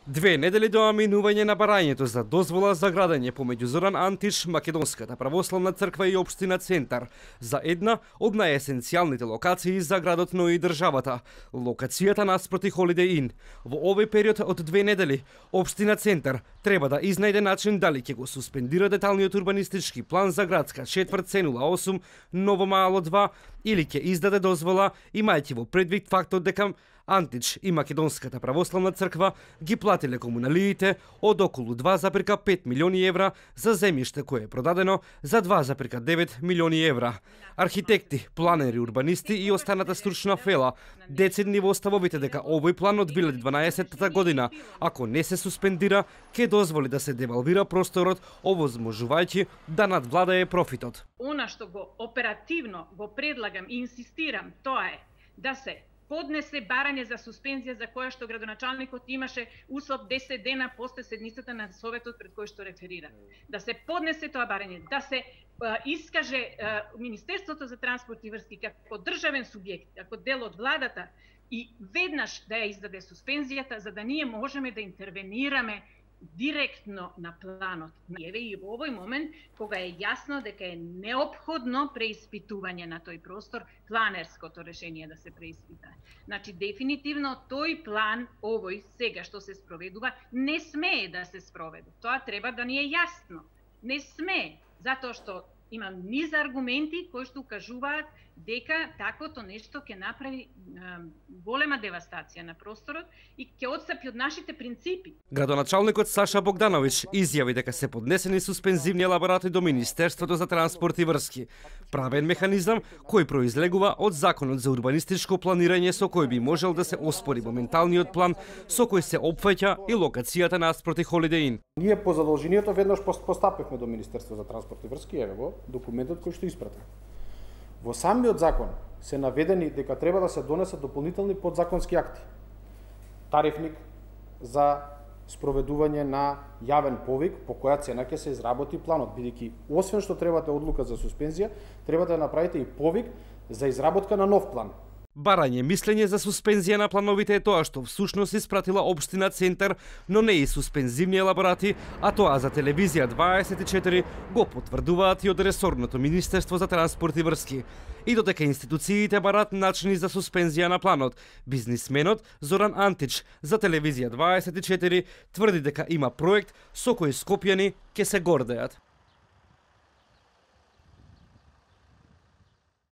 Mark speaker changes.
Speaker 1: 2 недели до минување на барањето за дозвола за градење помеѓу Зоран Антич, Македонската православна црква и општина Центар за една од најесенцијалните локации за градот, но и државата, локацијата наспроти Holiday Inn. Во овој период од 2 недели, општина Центар треба да изнајде начин дали ќе го суспендира деталниот урбанистички план за градска четврт C08 Ново Мало 2 или ќе издаде дозвола, имајќи во предвид фактот дека Антич и Македонската православна црква ги платиле комуналиите од околу 2,5 милиони евра за земјиште кое е продадено за 2,9 милиони евра. Архитекти, планери, урбанисти и останата стручна фела децидни во ставовите дека овој план од 2012 година, ако не се суспендира, ќе дозволи да се девалвира просторот, овозможувајќи да надвладае профитот.
Speaker 2: Она што го оперативно го предлагам и инсистирам, тоа е да се поднесе барање за суспензија за која што градоначалникот имаше услов 10 дена после седницата на советот пред кој што реферира. Да се поднесе тоа барање, да се искаже Министерството за транспорт и врски како државен субјект, како дел од владата и веднаш да ја издаде суспензијата за да ние можеме да интервенираме директно на планот. Еве и во овој момент, кога е јасно дека е неопходно преиспитување на тој простор, планерското решение да се преиспита. Значи, дефинитивно тој план, овој сега што се спроведува, не смее да се спроведе. Тоа треба да ни е јасно. Не смее, затоа што има низ аргументи кои што укажуваат дека таквото нешто ќе направи голема девастација на просторот и ќе отстапи од нашите принципи.
Speaker 1: Градоначалникот Саша Богдановиќ изјави дека се поднесени суспензивни елаборати до Министерството за транспорт и врски, правен механизам кој произлегува од Законот за урбанистичко планирање со кој би можел да се оспори моменталниот план со кој се опфаќа и локацијата наспроти Holiday Inn.
Speaker 3: Ние по задолжението веднаш постапивме до Министерството за транспорт и врски, еве го документот кој што испратив. Во самиот закон се наведени дека треба да се донесат дополнителни подзаконски акти. Тарифник за спроведување на јавен повик по која цена ќе се изработи планот, бидејќи освен што требате одлука за суспензија, треба да направите и повик за изработка на нов план.
Speaker 1: Барање мислење за суспензија на плановите е тоа што всушност испратила општина Центар, но не и суспензивни елаборати, а тоа за телевизија 24 го потврдуваат и од ресорното Министерство за транспорт и врски. И додека институциите барат начини за суспензија на планот, бизнисменот Зоран Антич за телевизија 24 тврди дека има проект со кој скопјани ќе се гордеат.